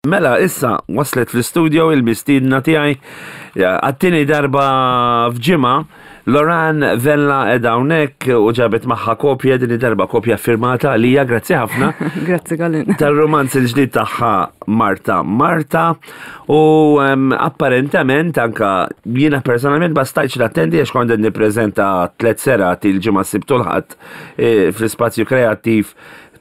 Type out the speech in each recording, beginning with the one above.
Mela, issa waslet fl-istudio il-mistiedna tiegħi għat-tieni darba f'ġimgħa Loran Vella qiegħda hawnhekk u ġabet magħha kopja din id-darba kopja firmata għalija, grazzi ħafna. Grazzi Colin. Tal-romanz il-ġdid tagħha Marta Marta u apparentament anka jiena personalment ma stajtx nattendi għax kont qed nippreżenta tliet serati l-ġimgħa s-Sibt u l-Ħadd eh, fl-ispazju kreattiv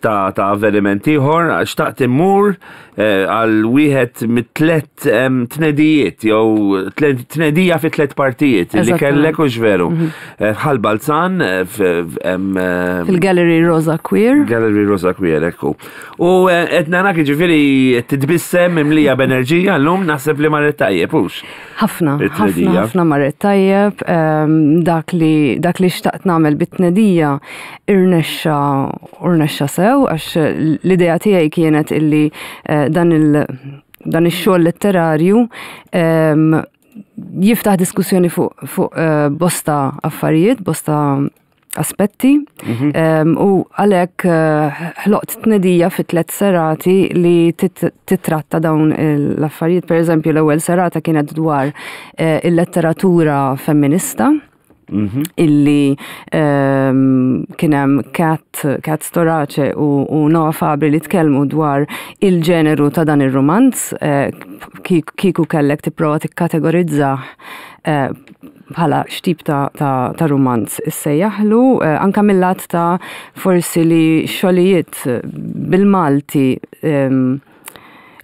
ta' ta' avveniment ieħor, xtaqt immur eh, għal wieħed mit-tlet tnedijiet jew tnedija fi tlet partijiet li kellek u veru. Mhm. Eh, Bħal Balzan eh, fil-Gallery Rosa Queer. Gallery Rosa Queer, ekku. U qed narak ġifieri titbissem imlija b'enerġija llum naħseb li marret tajjeb hux. Ħafna, ħafna, ħafna marret tajjeb, ehm, dak li dak li xtaqt nagħmel bit-tnedija irnexxa irnexxa sew għax l-idea tiegħi kienet illi eh, dan il dan ix-xogħol letterarju ehm, jiftaħ diskussjoni fuq fuq eh, bosta affarijiet, bosta aspetti mhm. u għalhekk eh, ħloqt tnedija fi tlet serati li titratta dawn l-affarijiet. Per eżempju, l-ewwel serata kienet dwar eh, il-letteratura femminista mhm. illi kien hemm Kat, Kat Storace u, u Noah Fabri li tkellmu dwar il-ġeneru ta' dan ir-romanz, eh, kieku kellek tipprova tikkategorizzah bħala x'tip ta', ta, ta rumanz issejjaħlu, eh, anka mill-lat ta' forsi li xogħlijiet bil-Malti ehm,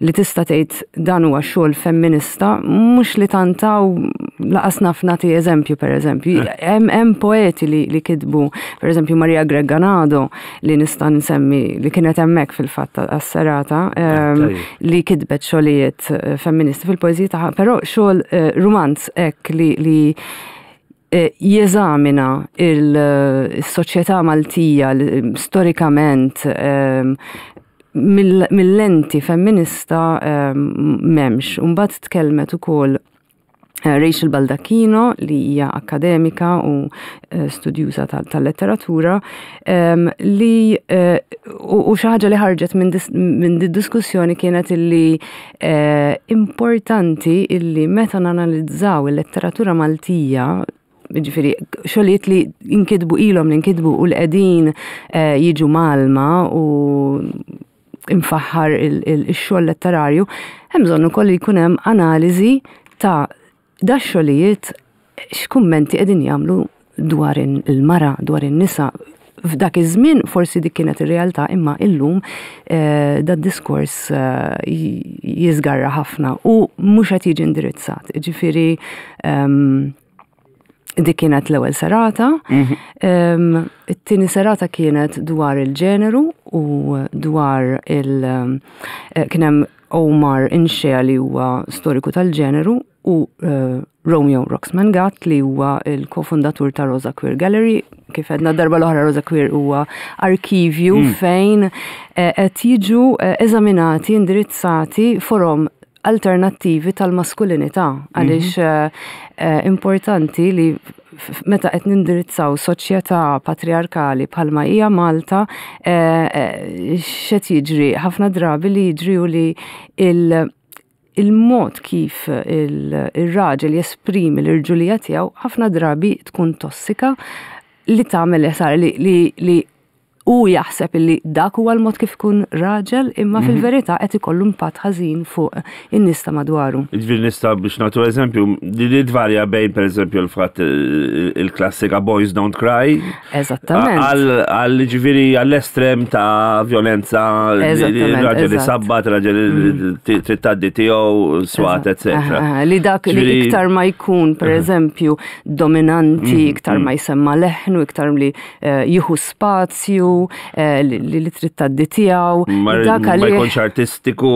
li tista' tgħid dan huwa xogħol femminista, mhux li tantaw laqas naf nagħti eżempju pereżempju. Eh. Hemm hemm poeti li, li kitbu, pereżempju Maria Greganado li nista' nsemmi li kienet hemmhekk fil-fatt għas-serata eh, ehm, li kitbet xogħlijiet eh, femministi fil-poeżija tagħha, però xogħol eh, rumanz hekk li, li eh, jeżamina il-soċjetà Maltija storikament ehm, mill-lenti femminista ehm, m'hemmx. Mbagħad tkellmet ukoll Eh, Rachel Baldacchino li hija akademika u eh, studjuża tal-letteratura ehm, li eh, u xi ħaġa li ħarġet minn di diskussjoni kienet illi importanti illi meta nanalizzaw il-letteratura Maltija ġifiri, xogħlijiet li inkitbu ilhom li nkitbu u li qegħdin jiġu malma u imfaħħar il-xogħol letterarju, hemm bżonn ukoll li jkun hemm analiżi ta' da xogħlijiet x'kummenti qegħdin jagħmlu dwar il-mara, dwar in-nisa. F'dak iż-żmien forsi dik kienet ir-realtà imma illum eh, da diskors eh, jiżgarra ħafna u mhux qed jiġi indirizzat. Ġifieri ehm, Dik kienet l-ewwel serata. Mhm. It-tieni serata kienet dwar il-ġeneru u dwar il- eh, kien hemm Omar Inxea li huwa storiku tal-ġeneru u eh, Romeo Roxman Gatt li huwa il-kofundatur ta' Rosa Queer Gallery. Kif għedna darba l-oħra Rosa Queer huwa arkivju mm. fejn eh, qed jiġu eżaminati, indirizzati forom alternattivi tal-maskulinità għaliex mhm. eh, eh, importanti li meta qed nindirizzaw soċjetà patriarkali bħalma hija Malta eh, x'qed jiġri ħafna drabi li jiġri u li il- il-mod kif il-raġel jesprimi l-irġulija tiegħu ħafna drabi tkun tossika li tagħmel li, li, li hu jaħseb illi dak huwa l-mod kif ikun raġel imma mhm. fil-verità qed ikollu impatt ħażin fuq in-nies ta' madwaru. Ġifieri nista' biex nagħtu eżempju, li tvarja bejn pereżempju l-fatt il-klassika Boys Don't Cry. Eżattament. Għal ġifieri għall-estrem ta' violenza, raġel li sabbat, raġel mhm. trid tgħaddi tiegħu, swat, etc. Li dak li iktar ma jkun pereżempju dominanti, mhm, iktar ma jsemma leħnu, iktar li Eh, jieħu spazju eh, li trid tgħaddi tiegħu. Ma jkunx artistiku.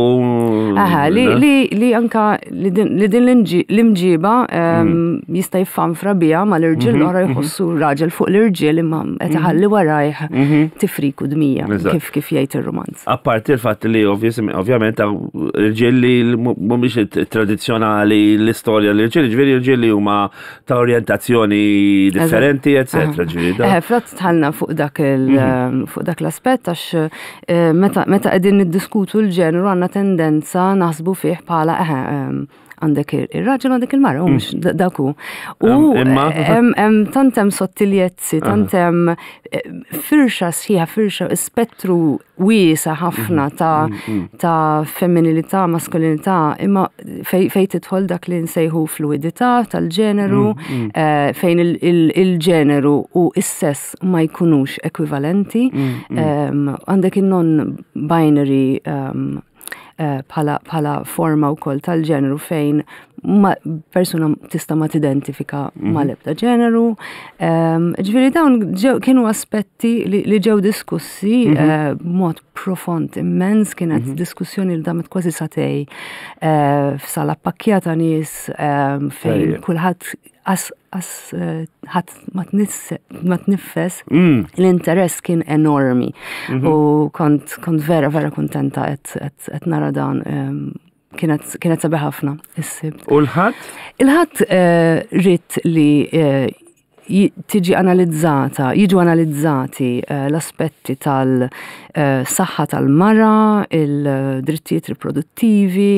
Aha, li anka li din l-imġiba ehm, mm. jista' jiffanfra biha mal-irġiel mhm, l-oħra mhm. jħossu raġel fuq l-irġiel imma qed mhm. iħalli warajh tifrik u dmija kif kif jgħid ir-romanz. Apparti l-fatt li ovvjament irġiel li mhumiex tradizzjonali l-istorja l-irġiel, ġifieri irġiel li huma ta' orjentazzjoni differenti, eccetera. Ġifieri. Eh, Frat tħallna fuq dak il- mhm. fuq dak l-aspett għax eh, meta qegħdin niddiskutu l-ġeneru għandna tendenza naħsbu fih bħala eħe għandek ir-raġel għandek il-mara, u mhux mm. dak hu. U hemm tant hemm sottiljezzi, tant hemm eh, firxa sħiħa, firxa spettru wiesa ħafna mm, ta' mm, ta' femminilità, maskulinità, imma fej, fej tidħol dak li nsejħu fluidità tal-ġeneru, eh, fejn il-ġeneru u s-sess ma jkunux ekwivalenti, għandek il-non-binary Eh, bħala bħala forma wkoll tal-ġeneru fejn ma, persuna tista' ma tidentifika mm -hmm. mal-ebda ġeneru. Ehm, ġifieri dawn kienu aspetti li, li ġew diskussi mm -hmm. b'mod profond immens, kienet mm -hmm. diskussjoni li damet kważi satej eh, f'sala pakkjata nies ehm, fejn kulħadd as as eh, ħadd ma tniffes, mm. l-interess kien enormi. Mhm. U kont kont vera vera kuntenta qed nara dan ehm, kienet kienet sabiħ ħafna is-sibt. U l-ħadd? Il-ħadd eh, ridt li eh, tiġi analizzata, jiġu analizzati l-aspetti tal-saħħa tal-mara, il-drittijiet riproduttivi,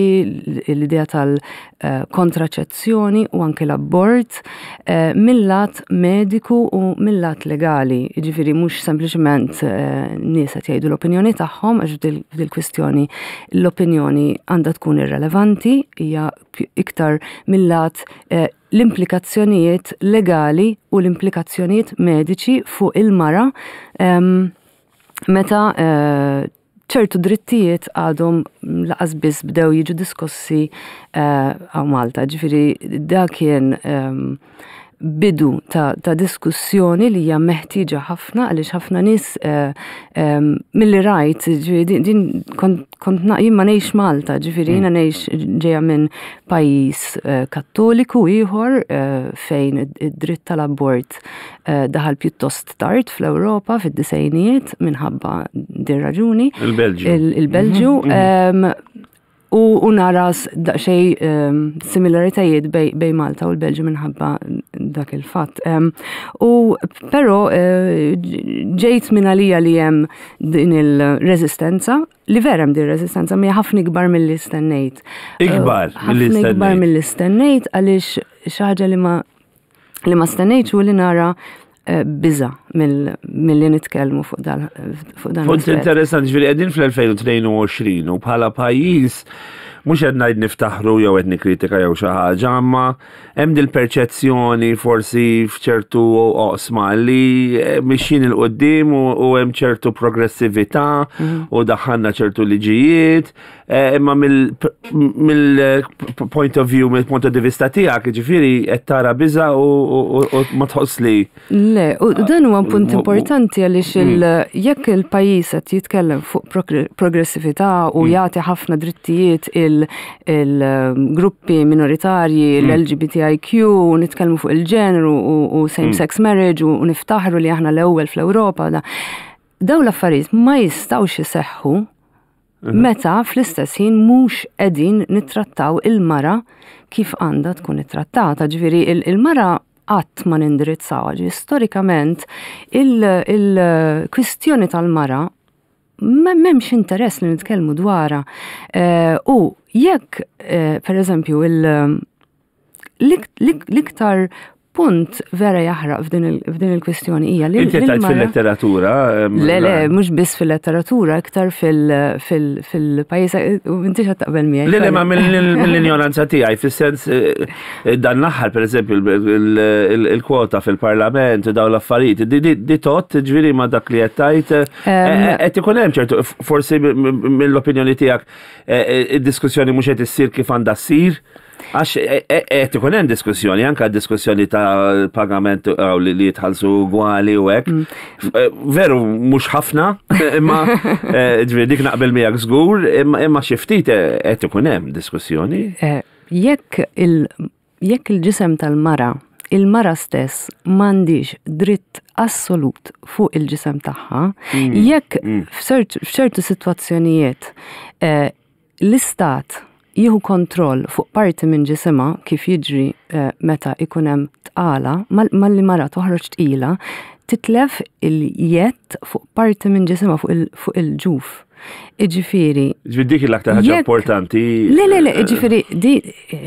l-idea tal-kontraċezzjoni u anke l-abort eh, mill-lat mediku u mill-lat legali. Jiġifieri mhux sempliċement eh, nies qed jgħidu l-opinjoni tagħhom għax f'dil-kwistjoni l-opinjoni għandha tkun irrelevanti, hija iktar mill-lat eh, l-implikazzjonijiet legali u l-implikazzjonijiet mediċi fuq il-mara meta eh, ċertu drittijiet għadhom laqas biss bdew jiġu diskussi eh, għaw Malta. Ġifieri da kien bidu ta', ta diskussjoni li hija meħtieġa ħafna għaliex ħafna nies eh, milli rajt, ġifieri din kont kont jien ma ngħix Malta, ġifieri jiena mm. ngħix ġejja minn pajjiż eh, kattoliku ieħor eh, fejn id-dritt tal-abort eh, daħal pjuttost tard fl-Ewropa fid-disejnijiet minħabba din raġuni. Il-Belġju. Il-Belġju. Mhm, mhm. U, u nara daqsxejn um, similaritajiet bej, bej Malta u l-Belġju minħabba dak il-fatt. Um, u però uh, ġejt minn għalija li hemm din il-reżistenza, li vera hemm din ir-reżistenza mi ħafna ikbar milli stennejt. Ikbar milli stennejt. Ikbar milli stennejt għaliex xi ħaġa li ma li ma stennejtx u li nara eh, biża mill-li nitkellmu fuq dan. Punt interessanti ġifieri qegħdin fl-2022 u bħala pajjiż mhux qed ngħid niftaħru jew qed nikkritika jew xi ħaġa, imma hemm dil-perċezzjoni forsi f'ċertu oqsma li eh, mixjin il qudiem u hemm ċertu progressività mhm. u daħħalna ċertu liġijiet, eh, imma mill-point of view, mill-point of vista tiegħek, ġifieri qed tara biża u ma tħoss li Le, u dan huwa punt importanti għaliex mm. jekk il-pajjiż qed jitkellem fuq progressività u mm. jagħti ħafna drittijiet il-gruppi minoritarji, mm. l-LGBTIQ, u nitkellmu fuq il-ġeneru u same-sex marriage u niftaħru li aħna l-ewwel fl-Ewropa. Dawn l-affarijiet ma jistgħux iseħħu Meta fl-istess ħin mhux qegħdin nittrattaw il-mara kif għandha tkun ittrattata. Ġifieri il-mara qatt ma nindirizzawha. Ġifieri storikament il-kwistjoni tal-mara m'hemmx interess li nitkellmu dwarha. Eh, u jekk, eh, per eżempju, l-iktar punt vera jaħraq f'din il-kwistjoni hija li. Inti tajt fil-letteratura? Le, le, mhux biss fil-letteratura, iktar fil-pajjiż, inti xa taqbel miegħi. Le, le, ma mill-ignoranza tiegħi, fis-sens eh, dan l-aħħar pereżempju il-kwota fil-parlament u dawn l-affarijiet, di tot ġifieri ma dak li qed tajt eh, eh, qed ikun hemm ċertu forsi mill-opinjoni tiegħek id-diskussjoni mhux qed issir kif għandha ssir. Għax e, e, qed ikun hemm diskussjoni, anke diskussjoni ta' pagament li jitħallsu ugwali u hekk. Mm. E, veru mhux ħafna, imma ġifieri dik naqbel miegħek żgur, imma xi ftit qed ikun hemm diskussjoni. Jekk il jekk il-ġisem tal-mara il-mara stess m'għandix dritt assolut fuq il-ġisem tagħha, mm. jekk mm. f'ċertu sitwazzjonijiet l-istat jieħu kontroll fuq parti minn ġisimha kif jiġri eh, meta ikun hemm tqala, malli mara toħroġ tqila, titlef il-jedd fuq parti minn ġisimha fuq il-ġuf. Iġifieri. Ġifieri dik l-aktar ħaġa importanti. Le, le, le, ġifieri di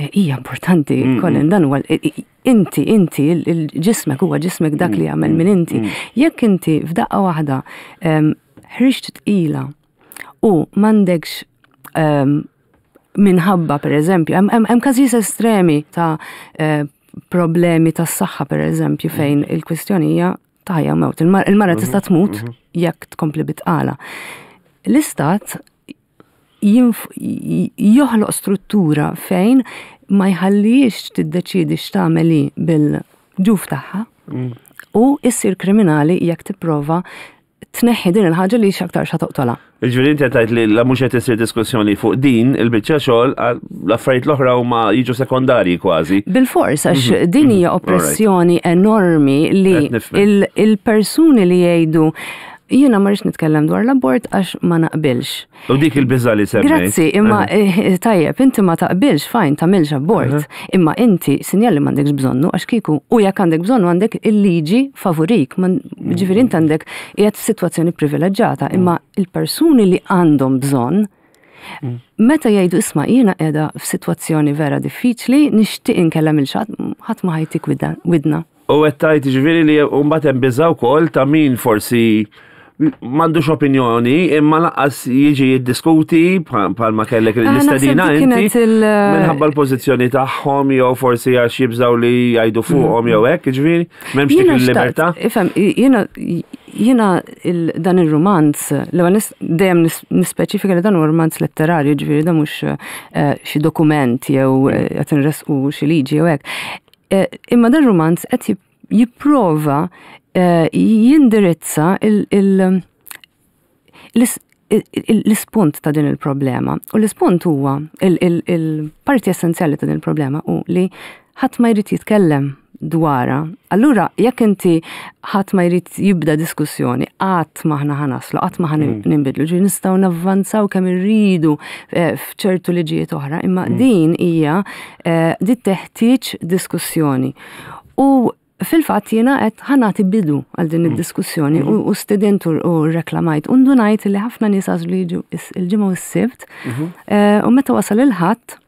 hija importanti, Colin, dan huwa inti, inti, il-ġismek huwa ġismek dak li jagħmel minn inti. Jekk inti f'daqqa waħda ħriġt tqila u m'għandekx minħabba per eżempju, hemm każijiet estremi ta' eh, problemi tas saħħa per eżempju fejn il-kwistjoni hija ta' ħajja mewt. Il-mara tista' tmut jekk tkompli bitqala. L-istat joħloq struttura fejn ma jħallix tiddeċidi x'tagħmel bil-ġuf tagħha u issir kriminali jekk tipprova tneħħi din il-ħaġa li x'aktar xa toqtolha. Jiġifieri inti qed tgħid li la mhux qed isir diskussjoni fuq din il-biċċa xogħol l-affarijiet l-oħra huma jiġu sekondarji kważi. Bil-fors għax din hija oppressjoni enormi li il-persuni li jgħidu jiena ma rridx nitkellem dwar l-abort għax ma naqbilx. U dik il-biża' li semmejt. Grazzi, imma eh, tajjeb, inti ma taqbilx, fajn, tagħmilx abort. Imma inti sinjal li m'għandekx bżonnu għax kieku u jekk għandek bżonnu għandek il-liġi favorik, ġifieri inti għandek qiegħed f'sitwazzjoni privileġġata, imma il-persuni li għandhom bżonn Meta jgħidu isma' jiena qiegħda f'sitwazzjoni vera diffiċli, nixtieq inkellem il xatt, ħadd ma ħajtik widna. U qed tgħid jiġifieri li mbagħad hemm biża' wkoll ta' min forsi m'għandux opinjoni imma lanqas jiġi jiddiskuti bħalma kellek ah, l-istedina inti minħabba l-pożizzjoni tagħhom jew forsi għax jibżgħu li jgħidu fuqhom jew hekk, jiġifieri m'hemmx dik il-libertà. Ifhem, jiena jiena dan ir-rumanz, l-ewwel dejjem nispeċifika li dan huwa rumanz letterarju, ġifieri dan mhux eh, xi dokument jew eh, qed inresqu xi liġi jew hekk. Eh, imma dan rumanz qed jipprova eh, jindirizza l-ispunt ta' din il-problema. U l-ispunt huwa il-parti essenzjali ta' din il-problema u li ħadd ma jrid jitkellem dwara. Allura, jekk inti ħadd ma jrid jibda diskussjoni, qatt ma ħna ħanaslu, qatt ma ħan mm. ninbidlu, ġi nistgħu navvanzaw kemm irridu eh, f'ċertu liġijiet oħra, imma mm. din hija eh, di teħtieġ diskussjoni. U fil-fatt jiena qed ħanati bidu għal din mm. id-diskussjoni u mm-hmm. student u reklamajt u ndunajt li ħafna nies għażlu jiġu il-ġimgħa u s-sibt mm-hmm. eh, u meta wasal il-ħadd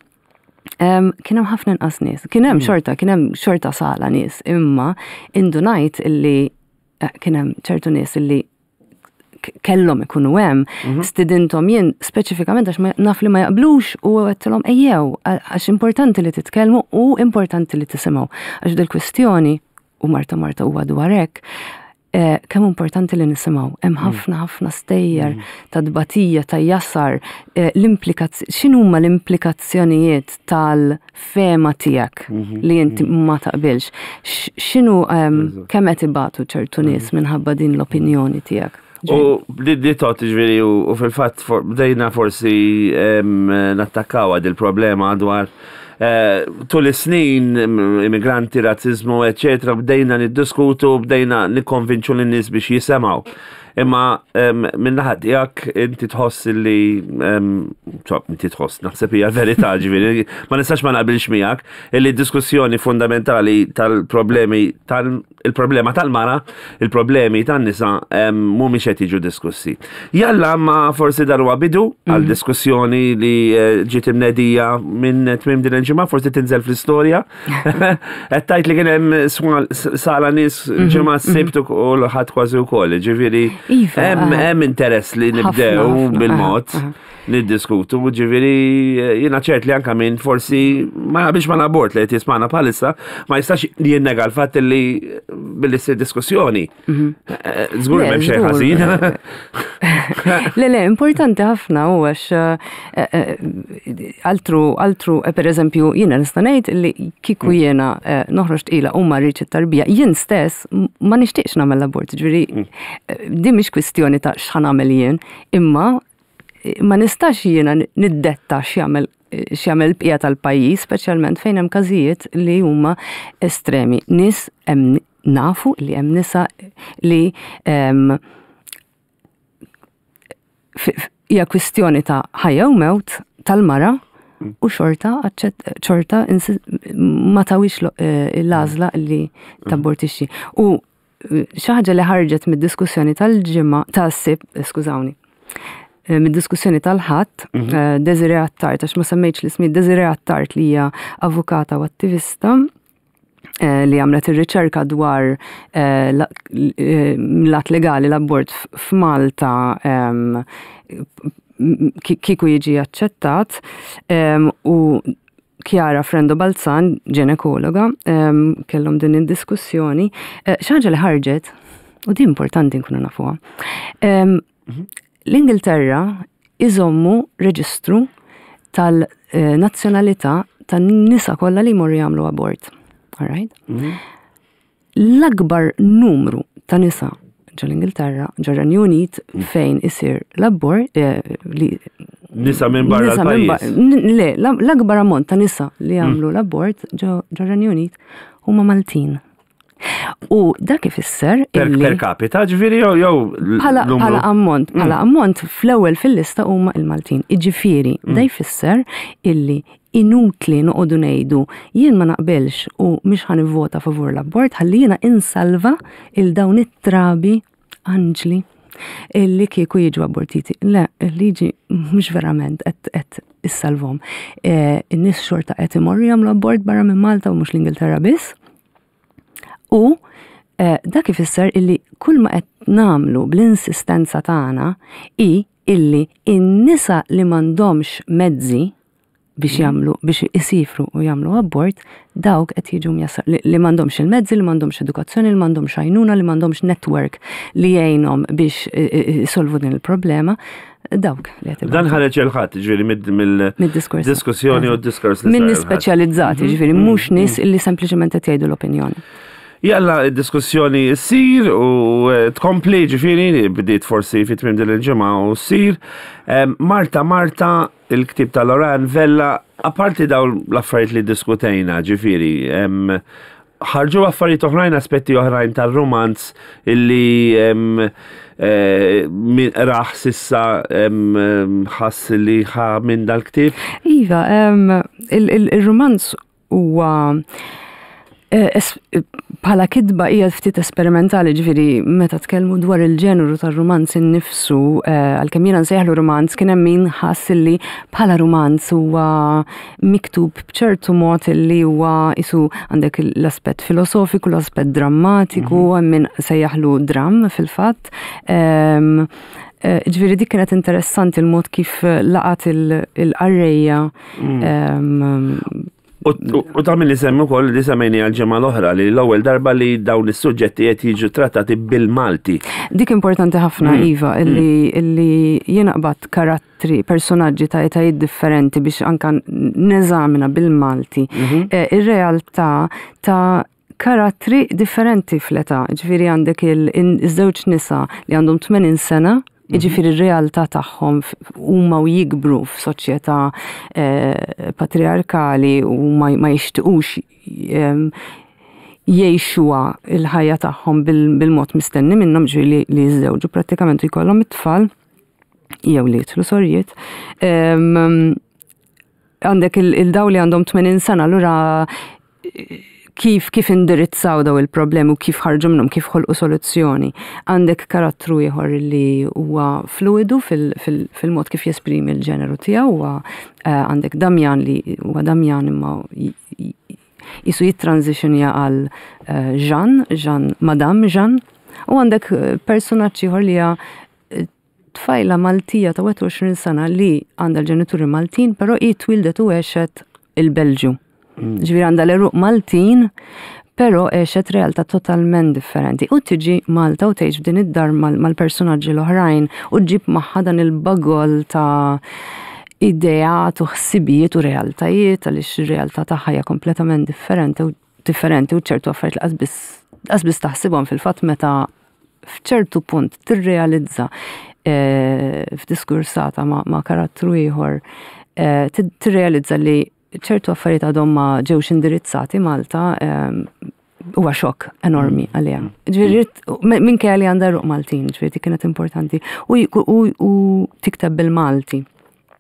kien hemm ħafna inqas nies. Kien hemm mm. xorta, kien hemm xorta sala nies, imma indunajt illi eh, kien hemm ċertu nies illi kellhom ikunu hemm, mhm. stidinthom jien speċifikament għax naf li ma jaqblux u għedtilhom ejjew għax importanti li titkellmu u importanti li tisimgħu. Għax dil-kwistjoni u Marta Marta huwa dwar hekk, eh, kemm importanti li nisimgħu. Hemm mm. ħafna ħafna stejjer mm. ta' tbatija, ta' jasar, eh, l-implikazzjoni, x'inhuma l-implikazzjonijiet tal-fema tiegħek mhm. li inti mm. ma taqbilx. X'inhu ehm, kemm qed ibatu ċertu nies minħabba din l-opinjoni tiegħek. U li tot ġviri u fil-fat bdejna forsi nattakkaw għad il-problema dwar eh, tul is-snin immigranti, razzizmu, eccetera, bdejna niddiskutu, bdejna nikkonvinċu lin-nies biex jisemgħu. Imma minn naħa tiegħek inti tħoss li inti tħoss naħseb hija verità ġifieri, ma nistax ma naqbilx miegħek illi diskussjoni fundamentali tal-problemi tal il-problema tal-mara, il-problemi tan-nisa mhumiex qed jiġu diskussi. Jalla ma forsi dan huwa bidu għal mhm. diskussjoni li eh, ġiet imnedija minn tmiem din il-ġimgħa, forsi tinżel fl-istorja. Qed tgħid li kien hemm sala nies mhm, ġimgħa mhm. s-sibt u l-ħadd kważi wkoll, ġifieri iva, hemm eh. interess li nibdew bil-mod. Niddiskutu, ġifieri jiena ċert li anka minn forsi ma biex ma abort li qed jismana bħalissa, ma jistax jinnega l-fatt li billi ssir diskussjoni. Mhm. Eh, żgur m'hemm xejn ħażin. Le, le, importanti ħafna u għax eh, eh, altru, altru, per eżempju, jiena nista' ngħid li kieku mm. jiena noħroġ tqila u ma rridx it-tarbija, jien stess ma nixtieqx nagħmel abort, ġifieri mm. din mhix kwistjoni ta' x'ħa nagħmel jien, imma ma nistax jiena niddetta x'jagħmel x'jagħmel l-bqija tal-pajjiż, speċjalment fejn hemm każijiet li huma estremi. Nies hemm nafu li hemm nisa li hija kwistjoni ta' ħajja u mewt tal-mara u xorta xorta ma tawix eh, l-għażla li tabortixxi. U Xi ħaġa li ħarġet mid-diskussjoni tal-ġimgħa tas-Sibt, skużawni, mid-diskussjoni tal-Ħadd, Desiree Attard, għax ma semmejtx l-ismi, Desiree Attard li hija avukata u attivista li għamlet ir-riċerka dwar l-att legali l-abort f'Malta kieku jiġi aċċettat u Chiara Frendo Balzan, ġenekologa, kellhom din id-diskussjoni. Xi ħaġa li ħarġet, u din importanti nkunu nafuha. L-Ingilterra iżommu reġistru tal-nazzjonalità tan-nisa kollha li jmorru jagħmlu abort. All right? L-akbar numru ta' nisa ġol-Ingilterra, ġol-Renju Unit, fejn isir l-abort, li Nisa minn barra nisa minn l-pajjiż. Le, l-akbar ammont ta' nisa li jagħmlu l-abort ġol-Renju Unit huma Maltin. U dak ifisser Per, illi per capita, ġifieri jew jew bħala numru- bħala ammont, bħala ammont fl-ewwel fil-lista huma il-Maltin. Iġifieri, da jfisser illi inutli noqogħdu ngħidu jien ma naqbilx u mhix ħa nivvota favur l-abort ħalli jiena insalva il dawn it-trabi anġli illi kieku jiġu abortiti. Le, il-liġi mhux verament qed issalvhom. In-nies xorta qed imorru jagħmlu abort barra minn Malta u mhux l-Ingilterra biss. U dak ifisser illi kull ma qed nagħmlu bl-insistenza tagħna hi illi in-nisa li m'għandhomx mezzi biex jagħmlu, biex isifru u jagħmlu abort, dawk qed jiġu mjassar li m'għandhomx il-mezzi, li m'għandhomx edukazzjoni, li m'għandhomx għajnuna, li m'għandhomx network li jgħinhom biex isolvu din il-problema, dawk li qed Dan ħareġ il-Ħadd, ġifieri Mid-diskors. mill-diskussjoni u d-diskors li Minn sar nies il-Ħadd. speċjalizzati, ġifieri mhux nies illi sempliċement qed jgħidu l-opinjoni. Jalla d-diskussjoni ssir u tkompli, ġifieri bdiet forsi fi tmiem din il-ġimgħa u ssir. Marta, Marta, il-ktieb ta' Loranne Vella, apparti dawn l-affarijiet li diskutejna, ġifieri, ħarġu affarijiet oħrajn, aspetti oħrajn tal-romanz illi min raħ sissa ħass li ħa minn dal-ktieb? Iva, il-romanz huwa bħala kitba hija ftit esperimentali, ġifieri meta tkellmu dwar il-ġeneru tar-romanz innifsu, għalkemm jiena nsejjaħlu romanz, kien hemm min ħass illi bħala romanz huwa miktub b'ċertu mod illi huwa isu għandek l-aspett filosofiku, l-aspett drammatiku, hemm min sejjaħlu dram fil-fatt. Ġifieri dik kienet interessanti il-mod kif laqat il-qarrejja. U ta' min li semmi wkoll li semmejni għal-ġimgħa l-oħra li l-ewwel darba li dawn is-suġġetti qed jiġu trattati bil-Malti. Dik importanti ħafna, Iva, illi jiena qbadt karattri, personaġġi ta' etajiet differenti biex anka neżamina bil-Malti ir-realtà ta' karattri differenti fl-età. Ġifieri għandek iż-żewġ nisa li għandhom 80 sena, jiġifieri r-realtà tagħhom huma u jikbru f'soċjetà patriarkali u ma jixtiqux jgħixuha il-ħajja tagħhom bil-mod mistenni minnhom, ġifieri li jiżżewġu prattikament u jkollhom it-tfal jew li jidħlu sorjiet. Għandek il-daw li għandhom 80 sena, allura kif indirizzaw daw il-problemi u kif ħarġu minnhom, kif ħolqu soluzzjoni. Għandek karattru ieħor li huwa fluidu fil-mod kif jesprimi l-ġeneru tiegħu, huwa għandek Damjan li huwa Damjan imma jisu jittransitionja għal Jean, Jean, Madame Jean, u għandek personaġġ ieħor li hija tfajla Maltija ta' 21 sena li għandha l-ġenituri Maltin, però hi twildet u għexet il-Belġju. Ġifieri għandha l-għeruq Maltin, però għexet realtà totalment differenti. U tiġi Malta u tgħix f'din id-dar mal-personaġġi l-oħrajn u ġġib magħha dan il-bagol ta' ideat u ħsibijiet u realtajiet, għaliex ir-realtà tagħha hija kompletament differenti u differenti u ċertu affarijiet li qas biss taħsibhom fil-fatt meta f'ċertu punt tirrealizza f'diskursata ma' karattru ieħor, tirrealizza li ċertu affarijiet għadhom ma ġewx indirizzati Malta, huwa xokk enormi għaliha. Ġifieri minkejja li għandha ruq Maltin, ġifieri kienet importanti u tikteb bil-Malti.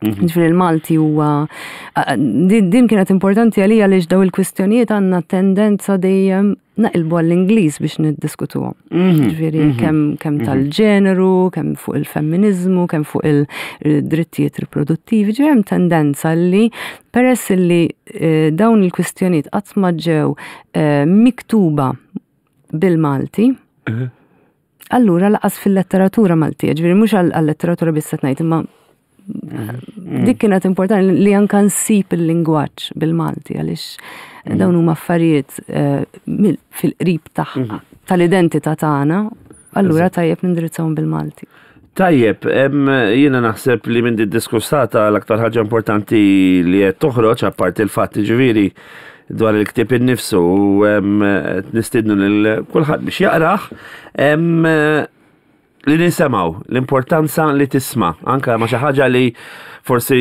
Mhm. Ġifieri il-Malti huwa din kienet importanti għalija għaliex daw il-kwistjonijiet għandna tendenza dejjem naqilbu għall-Ingliż biex niddiskutuhom. Mhm. Ġifieri mhm. kemm kemm tal-ġeneru, kemm fuq il-femminizmu, kemm fuq il-drittijiet riproduttivi, ġifieri hemm tendenza li peress li eh, dawn il-kwistjonijiet qatt ma ġew eh, miktuba bil-Malti, Allura laqas fil-letteratura Maltija, ġifieri mhux għal-letteratura biss qed ngħid, imma mm. dik kienet importanti li anka nsib il-lingwaġġ bil-Malti għaliex mm. dawn huma affarijiet eh, fil-qrib tagħha mm. tal-identità tagħna, allura tajjeb nindirizzahom bil-Malti. Tajjeb, jiena naħseb li minn diskussata l-aktar ħaġa importanti li qed toħroġ apparti il-fatt ġifieri dwar il-ktieb innifsu u nistidnu lil kulħadd biex jaqrah li nisimgħu l-importanza li tisma' anke ma xi ħaġa li forsi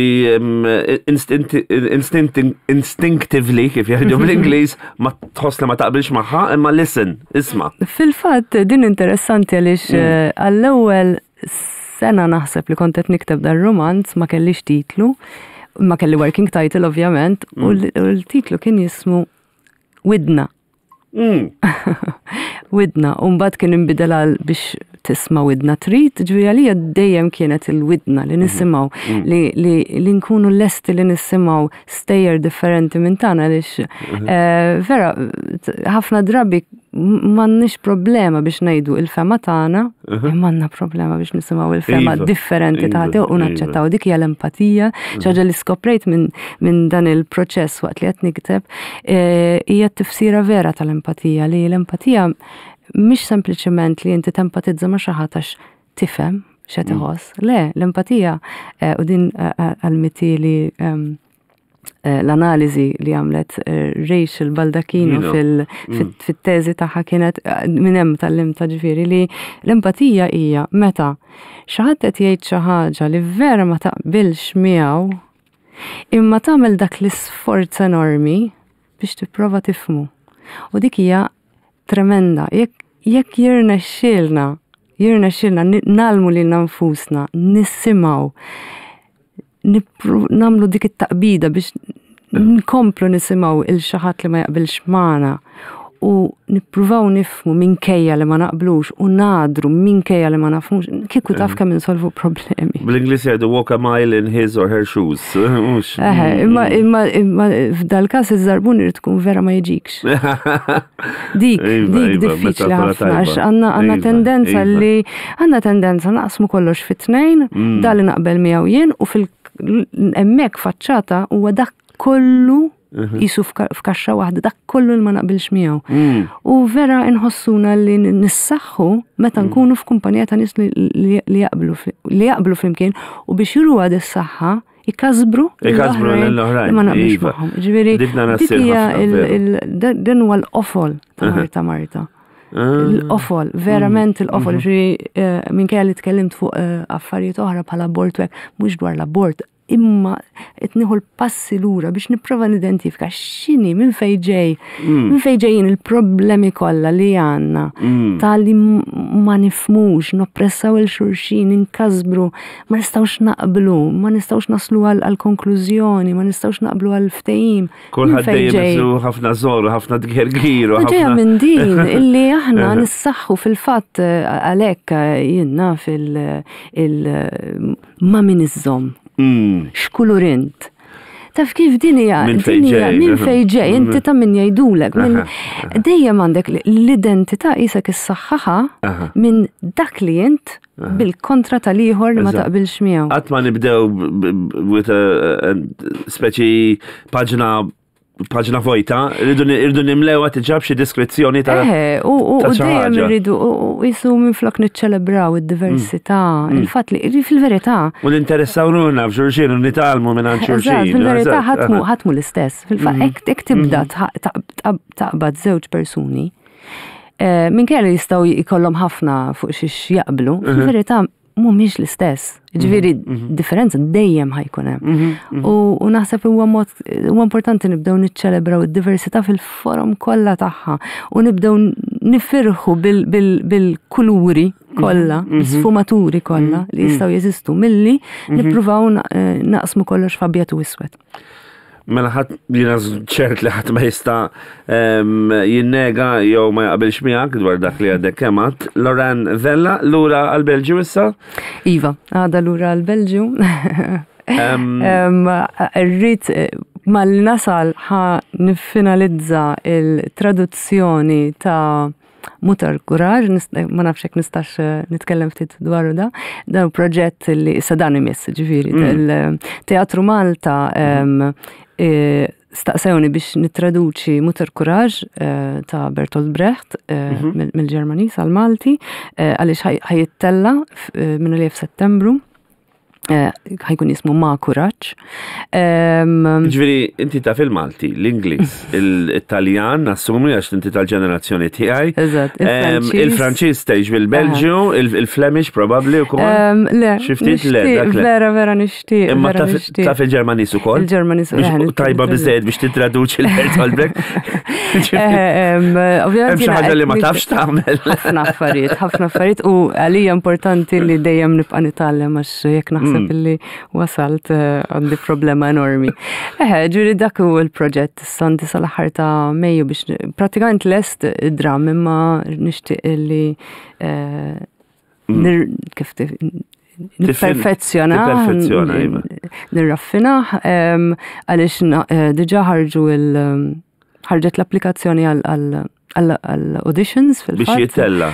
instinctively kif jgħidu bl-Ingliż ma tħoss li ma taqbilx magħha imma listen, isma'. Fil-fatt din interessanti għaliex mm. eh, għall-ewwel sena naħseb li kont qed nikteb dan romanz ma kellix titlu, ma kelli working title ovvjament, u mm. l-titlu kien jismu Widna. Mm. Widna, u mbagħad kien inbidel għal biex tisma' widna trid, ġifieri għalija dejjem kienet il-widna li mm. nisimgħu, mm. li, li, li nkunu lesti li nisimgħu stejjer differenti minn tagħna għaliex mm-hmm. eh, vera ħafna drabi m'għandniex problema biex ngħidu il-fema tagħna, mhm. imma għandna problema biex nisimgħu il-fema iva, differenti ta' iva, u naċċettaw dik hija l-empatija, mhm. ħaġa li skoprejt minn min dan il-proċess waqt li qed nikteb, e, hija t-tifsira vera tal-empatija li l-empatija mhix sempliċement li inti tempatizza ma' xi ħadd għax tifhem x'qed mm. iħoss. Le, l-empatija e, u din e, għal-mitili Eh, l-analiżi li għamlet eh, Rachel Baldacchino mm. fil-teżi tagħha kienet eh, minn hemm tal-limta ġifieri li l-empatija hija meta xi ħadd qed jgħid xi ħaġa li vera ma taqbilx miegħu imma tagħmel dak l-isforz enormi biex tipprova tifhmu. U dik hija tremenda. Jekk jekk jirnexxielna, jirnexxielna nagħlmu lilna nfusna, nisimgħu nagħmlu dik it-taqbida biex nkomplu nisimgħu il xi ħadd li ma jaqbilx magħna u nippruvaw nifhmu minkejja li ma naqblux u nadru minkejja li ma nafhmux, kieku taf kemm insolvu problemi. Bl-Ingliż jgħidu walk a mile in his or her shoes. Eħe, imma imma imma f'dal-każ iż-żarbun irid tkun vera ma jiġikx. Dik, iva, dik iva, diffiċli ħafna għax għandna għandna iva, tendenza li għandna tendenza naqsmu kollox fit-tnejn, mm. dal li naqbel miegħu jien u fil hemmhekk faċċata huwa dak kollu mhm. jisu f'kaxxa waħda dak kollu li ma naqbilx miegħu. Mm. U vera nħossuna li nissaħħu meta mm. nkunu f'kumpanija ta' nies li jaqblu li jaqblu flimkien u biex juru għad is-saħħa ikasbru Ikasbru l-oħrajn. Ma naqbilx iva. magħhom. Ġifieri din huwa l-qofol ta' Marta Marta. Ah. L-qofol, verament mm. il-qofol, mhm. ġifieri eh, minkejja li tkellimt fuq eh, affarijiet oħra bħala abort u hekk, mhux dwar l-abort, imma qed nieħu l-passi lura biex nipprova nidentifika x'inhi minn fejn ġej, mm. minn fejn ġejjin il-problemi kollha li għandna mm. ta' li ma nifmux, noppressaw il-xulxin, inkasbru ma nistgħux naqblu, ma nistgħux naslu għal konklużjoni, ma nistgħux naqblu għal ftehim. Kulħadd dejjem isu ħafna żor, ħafna tgergir. Ġejja minn din illi aħna nissaħħu fil-fatt eh, għalhekk eh, jiena fil ma min iżżomm. Mm. X'kulur int? Taf kif din hija minn fejn ġej, minn fejn ġej, inti ta' min jgħidulek. Dejjem għandek l-identità qisek issaħħaħa minn dak li int bil-kontra tal-ieħor li ma taqbilx miegħu. Qatt ma nibdew with a speċi paġna paġna vojta, rridu nimlewa tiġab xi diskrizzjoni ta' Eħe, u dejjem irridu u jisu minflok niċċelebraw id-diversità, mm. il-fatt li fil-verità. U ninteressaw ruħna f'xulxin u nitgħallmu minn għand xulxin. Fil-verità ħatmu ħatmu l-istess. Fil-fatt mm. hekk tibda mm. taqbad żewġ persuni. Eh, minkejja li jistgħu jkollhom ħafna fuq xiex jaqblu, fil-verità mhumiex l-istess. Ġifieri differenza dejjem ħa jkun hemm. U naħseb huwa mod huwa importanti nibdew niċċelebraw id-diversità fil-forom kollha tagħha u nibdew nifirħu bil-kuluri kollha, sfumaturi kollha li jistgħu jeżistu milli nippruvaw naqsmu kollox f'abjad u iswed. Mela ħadd jiena ċert li ħadd ma jista' jinnega jew ma jaqbilx miegħek dwar dak li għadek kemm għedt. Loranne Vella, lura għall-Belġju issa? Iva, għada lura għall-Belġju. Irrid mal-nasal ħa niffinalizza il-traduzzjoni ta' Mutter Courage, ma nafx jekk nistax nitkellem ftit dwaru da. Dan proġett li issa dan imiss, ġifieri. Il-Teatru Malta staqsewni biex nittraduċi Mutter Courage ta' Bertolt Brecht mill-Ġermaniż għal-Malti, għaliex ħa jittella' minn li f'Settembru. Ħa jkun jismu Ma Kuraġġ. Ġifieri, inti taf il-Malti, l-Ingliż, il-Taljan, nassumi għax inti tal-ġenerazzjoni tiegħi. Eżatt, il-Franċiż tgħix bil-Belġju, il-Flemish probabbli wkoll. Le, Xi ftit le, dak le. Vera, vera nixtieq. Imma taf il-Ġermaniż ukoll? Il-Ġermaniż Tajba biżejjed biex titraduċi l-Bertolt Brecht. Ovvjament Hemm xi ħaġa li ma tafx tagħmel. Ħafna affarijiet, ħafna affarijiet u għalija importanti li dejjem nibqa' nitgħallem għax jekk naħseb illi wasalt għandi problema enormi. Eħe, ġifieri dak hu l-proġett issa għandi sal-aħħar ta' Mejju biex pratikament lest id-dram imma nixtieq illi kif nipperfezzjona, Nipperfezzjona, iva. nirraffinah, għaliex diġà ħarġu il ħarġet l-applikazzjoni għal auditions fil-fatt. Biex jittella.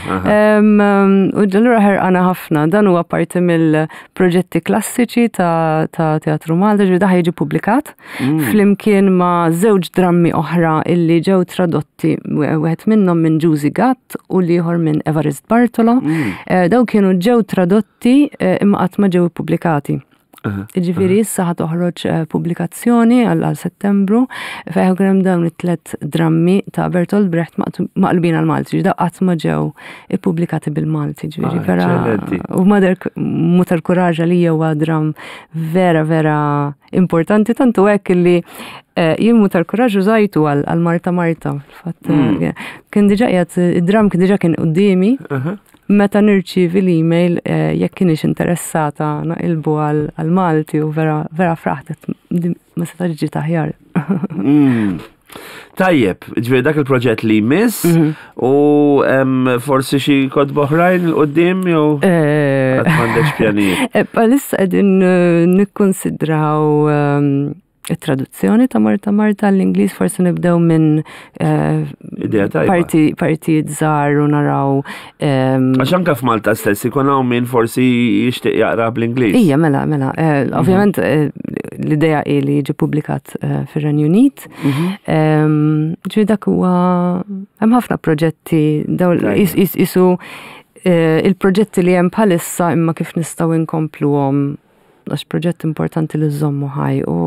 U allura ħerqana ħafna, dan huwa parti mill-proġetti klassiċi ta' Teatru Malta, ġifieri da jiġi publikat flimkien ma' żewġ drammi oħra illi ġew tradotti, wieħed minnhom minn Ġużi Gatt u l-ieħor minn Evarist Bartolo. Daw kienu ġew tradotti imma qatt ma ġew ippubblikati. Ġifieri issa ħa toħroġ pubblikazzjoni għal Settembru fejn hemm dawn it-tlet drammi ta' Bertolt Brecht maqlubin għal Malti, ġifieri qatt ma ġew ippubblikati bil-Malti, ġifieri vera. U Mutter Courage li huwa dram vera vera importanti tantu hekk li jien Mutter Courage użajtu għal Marta Marta. Fatt kien diġà qiegħed id-dram kien diġà kien quddiemi. Meta nirċievi l-email jekk kienx interessata naqilbu għal Malti u vera vera fraħt ma setax ġiet aħjar. Tajjeb, ġifieri dak il-proġett li jmiss u forsi xi kotba oħrajn 'il quddiem jew qatt m'għandekx pjanijiet. Bħalissa qegħdin nikkonsidraw it-traduzzjoni ta' Marta Marta l-Ingliż, forsi nibdew minn Idea tajba. partijiet żgħar u naraw. Għax anke f'Malta stess ikun hawn min forsi jixtieq jaqra bl-Ingliż. Ija, mela, mela. Ovvjament l-idea hi li jiġi publikat fir-Renju Unit. Ġifieri dak huwa hemm ħafna proġetti daw isu il-proġetti li hemm bħalissa imma kif nistgħu inkompluhom għax proġett importanti li żommu ħaj u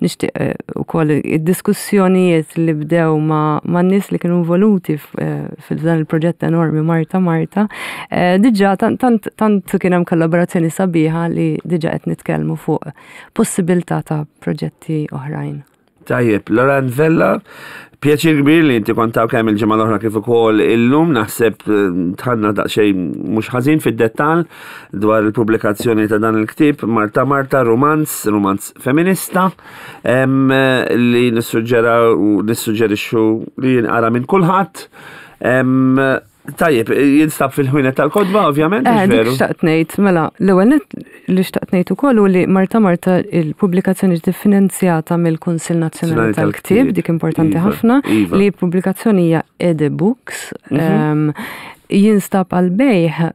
nixtieq ukoll id-diskussjonijiet li bdew ma' nies li kienu involuti fil-dan il-proġett enormi Marta Marta, diġà tant kien hemm kollaborazzjoni sabiħa li diġà qed nitkellmu fuq possibilità ta' proġetti oħrajn. Tajjeb, Loranne Vella, pjaċir kbir li inti kont hawn kemm il-ġimgħa l-oħra kif ukoll illum, naħseb dħalna daqsxejn mhux ħażin fid-dettall dwar il-pubblikazzjoni ta' dan il-ktieb Marta Marta, romanz, romanz feminista, li nissuġġera u nissuġġerixxu li jinqara minn kulħadd. Tajjeb, jinstab fil-ħwienet tal-kotba, ovvjament, Dik veru? xtaqt ngħid, mela, l-ewwel nett li xtaqt ngħid ukoll hu li Marta Marta il-pubblikazzjoni ġiet iffinanzjata mill-Kunsill Nazzjonali Nazzjonali tal-Ktieb, tal-Ktieb. dik importanti ħafna, li pubblikazzjoni hija Ede Books, jinstab għal bejgħ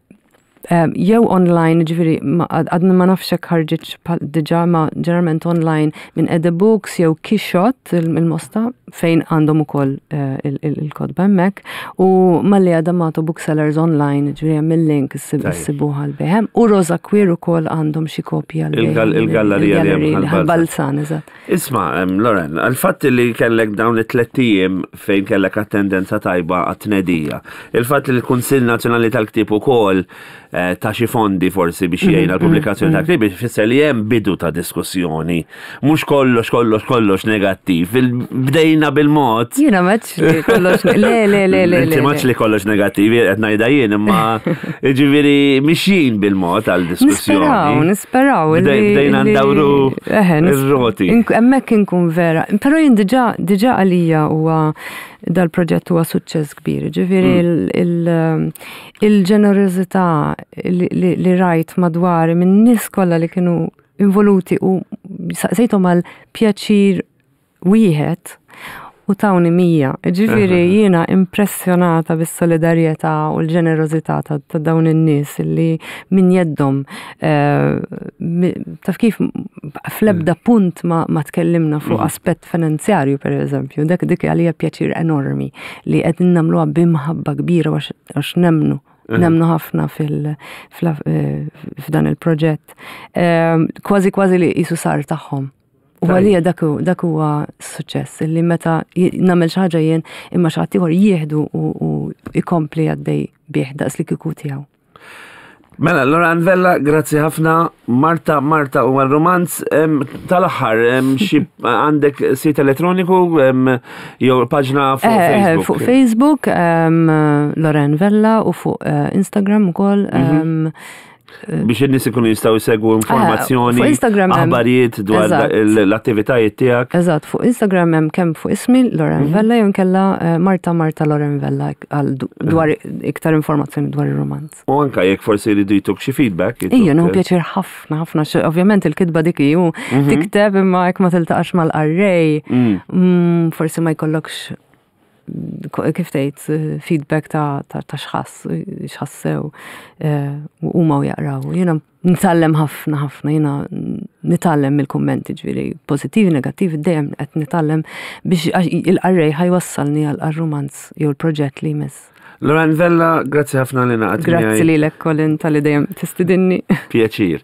jew online, ġifieri għadna ma nafx hekk ħarġitx diġà, ma ġeneralment online minn Ede Books jew Kixot il-Mosta. fejn għandhom ukoll eh, il-kotba hemmhekk u Mallia D'Amato Booksellers Online, ġifieri hemm il-link issibuha għall-bejgħ. U Rosa Queer ukoll għandhom xi kopji għall-bejgħ. Il-gallerija li hemm Balzan, eżatt. Isma, Loren, għal-fatt li kellek dawn it-tlett ijiem fejn kellek attendenza tajba għat-tnedija, il-fatt li l-Kunsill Nazzjonali tal-Ktieb ukoll eh, ta' xi fondi forsi biex jgħin għall-pubblikazzjoni ta' ktieb ifisser li hemm bidu ta' diskussjoni. Mhux kollox kollox kollox negattiv. Bdejna bil-mod. Jiena m'għedx li kollox le le le le. Inti m'għedx li kollox negattiv, qed ngħidha jien imma jiġifieri mixjin bil-mod għal diskussjoni. Nisperaw, nisperaw. Bdejna ndawru ir-roti. Hemmhekk inkun vera. Però jien diġà diġà għalija huwa dal-proġett huwa suċċess kbir. Ġifieri mm. il-ġenerożità li rajt madwari minn nies kollha li kienu involuti u saqsejthom għal pjaċir wieħed u tawni 100. Ġifieri jiena impressjonata bis-solidarjetà u l-ġenerożità ta' dawn in-nies li minn jeddhom eh, taf kif fl-ebda mm. punt ma, ma tkellimna fuq mm. aspett finanzjarju per eżempju, dak dik għalija pjaċir enormi li qed nagħmluha b'imħabba kbira għax nemmnu Nemnu ħafna eh, f'dan il-proġett. Ehm, kważi kważi li jisu sar tagħhom. U għalija dak huwa suċċess li meta nagħmel xi ħaġa jien imma xi ħadd ieħor jieħdu u jkompli għaddej bih daqs li kieku tiegħu. Mela, Loran Vella, grazzi ħafna. Marta, Marta u romanz tal-aħħar xi għandek sit elettroniku jew paġna fuq eh, eh, Facebook? Fuq Facebook, Loren Vella u fuq eh, Instagram ukoll. Mhm. Biex in-nies ikunu jistgħu jsegwu informazzjoni, fuq Instagram aħbarijiet dwar l-attivitajiet tiegħek. Eżatt, fuq Instagram hemm kemm fuq ismi Loren mhm. Vella jew kella Marta Marta Loren Vella għal dwar iktar informazzjoni dwar ir-romanz. U anka jekk forsi jridu jtuk xi feedback. Ija, nieħu pjaċir ħafna, ħafna. Ovvjament il-kitba dik hi mhm. tikteb imma jekk ma tiltaqax mal-qarrej, mm. mm, forsi ma jkollokx kif tgħid feedback ta' ta' xħass, xħassew eh, u huma u jaqraw. Jiena nitgħallem ħafna ħafna, jiena nitgħallem mill-kummenti ġifieri pożittivi, negattivi, dejjem qed nitgħallem biex il-qarrej ħajwassalni għal rumanz jew il-proġett li jmiss. Loran Vella, grazzi ħafna li naqat. Grazzi lilek Colin tal-li dejjem tistidinni. Pjaċir.